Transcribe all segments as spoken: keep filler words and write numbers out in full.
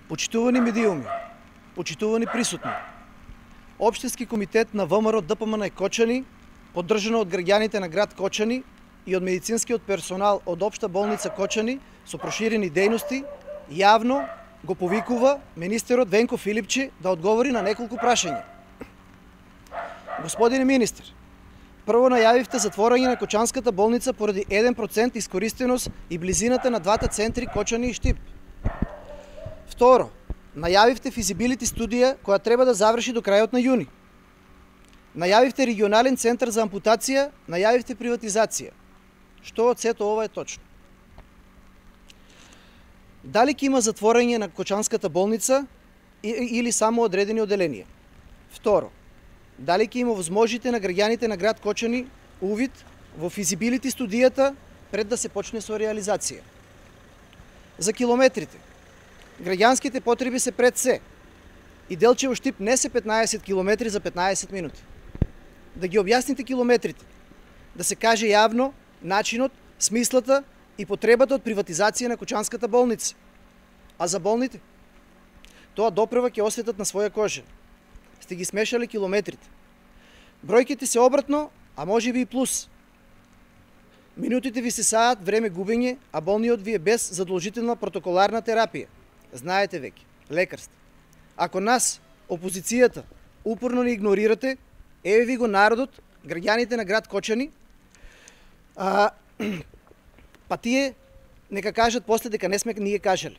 Почитувани медиуми, почитувани присутни, Општински комитет на ВМРО ДПМН Кочани, поддржано од граѓаните на град Кочани и од медицинскиот персонал од Општа болница Кочани со проширени дејности, јавно го повикува министерот Венко Филипчи да одговори на неколку прашања. Господине министер, прво најавивте затворање на Кочанската болница поради еден процент искористеност и близината на двата центри Кочани и Штип. Второ, најавивте физибилити студија која треба да заврши до крајот на јуни. Најавивте регионален центар за ампутација, најавивте приватизација. Што од сето ова е точно? Дали ќе има затворање на Кочанската болница или само одредени оделенија? Второ, дали ќе има возможите на граѓаните на град Кочани увид во физибилити студијата пред да се почне со реализација? За километрите. Граѓанските потреби се пред се. И Делчево Штип не се петнаесет километри за петнаесет минути. Да ги објасните километрите. Да се каже јавно начинот, смислата и потребата од приватизација на Кочанската болница. А за болните? Тоа допрева ќе осетат на своја кожа. Сте ги смешали километрите. Бројките се обратно, а може би и плюс. Минутите ви се саат време губење, а болниот ви е без задолжителна протоколарна терапија. Знаете веќе, лекар сте. Ако нас, опозицијата, упорно не игнорирате, еве ви го народот, граѓаните на град Кочани, а, па тие нека кажат после дека не сме ние кажале.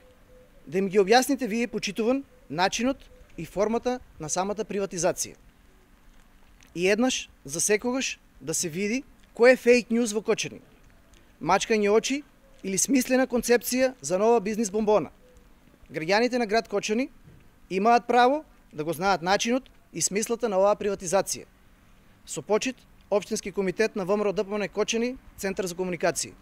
Да им ги објасните вие, почитуван, начинот и формата на самата приватизација. И еднаш, за секогаш, да се види кој е фейк ньюз во Кочани. Мачкање очи или смислена концепција за нова бизнис бомбона. Граѓаните на град Кочани имаат право да го знаат начинот и смислата на оваа приватизација. Со почит, Општински комитет на ВМРО ДПМН Кочани, Центар за комуникација.